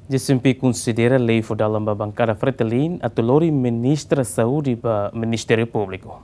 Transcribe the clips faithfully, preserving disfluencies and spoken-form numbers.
J C M P konsidera lei fó dalan ba bankada Fretilin atu lori Ministra Saúde ba Ministériu Públiku.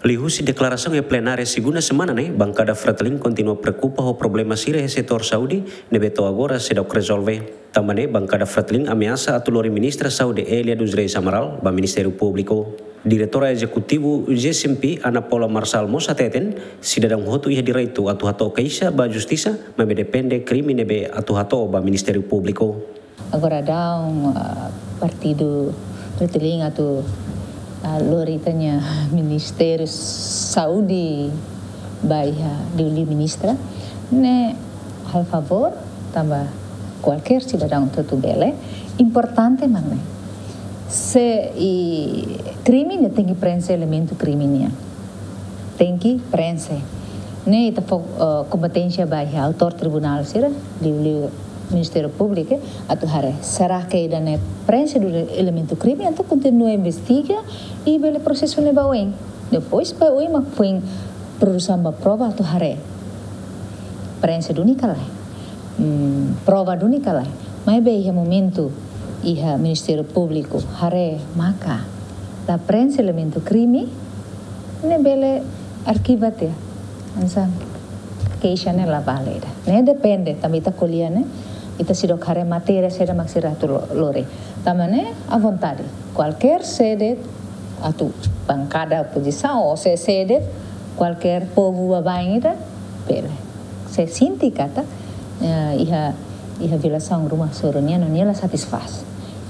Liuhusi deklarasaun iha plenária segunda semana ne'e, bankada Fretilin kontinua preokupa ho problema sira iha setór saúde ne'ebé to'o agora seidauk rezolve. Tanba ne'e, bankada Fretilin ameasa atu lori Ministra Saúde Elia dos Reis Amaral ba Ministériu Públiku. Diretora Ezekutiva J C M P, Ana Paula Marçal mós hateten, sidadaun hotu iha direitu atu hato'o keixa ba justisa, maibé depende krime ne'ebé atu hato'o ba Ministériu Públiku. Agora daudaun, ah, partidu Fretilin atu, ah, lori ita-nia Ministériu Saúde ba iha liuliu ministra, ne'e halo favór, tanba kualkér sidadaun hotu bele, importante mak ne'e. Se iha krime, ne'e tenke prenxe elementu krime nian. Tenke prenxe. Ne'e ita fó, eh, kompeténsia ba iha autór tribunál sira, liuliu Ministériu Públiku, atu haree. Será ke ida-ne'e prenxe duni elementu krime, entaun kontinua investiga i bele prosesu ne'e ba oin. Depois ba oin mak foin produsaun ba prova atu haree. Prenxe duni ka lae. Hmm, prova duni ka lae. Maibé iha momentu iha Ministériu Públiku haree maka la prenxe elementu krime, ne'e bele arkiva tiha. Hanesan keixa ne'e la vale ida. Ne'e depende, tanba ita ko'alia ne'e, ita seidauk haree matéria saida mak sira atu lo-, lori. Tanba ne'e, à vontade. Kualkér sé de'it, atu bankada opozisaun, ou sé, sé de'it, kualkér povu baibain ida, bele. Se sente katak, eh, iha, iha violasaun ruma soru nian, no nia la satisfás.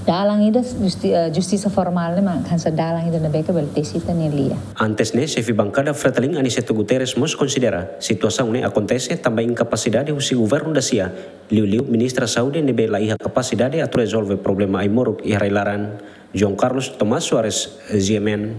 Dalan ida justi-, eh, justisa formál ne'e mak hanesan dalan ida ne'ebé ke bele tesi ita-nia lia. Antes ne'e, xefe bankada Fretilin Aniceto Guterres mós konsidera situasaun ne'e akontese tanba inkapasidade husi governu dasia, liuliu Ministra Saúde ne'ebé la iha kapasidade atu rezolve problema ai-moruk iha rai-laran. João Carlos Tomás Soares, G M N.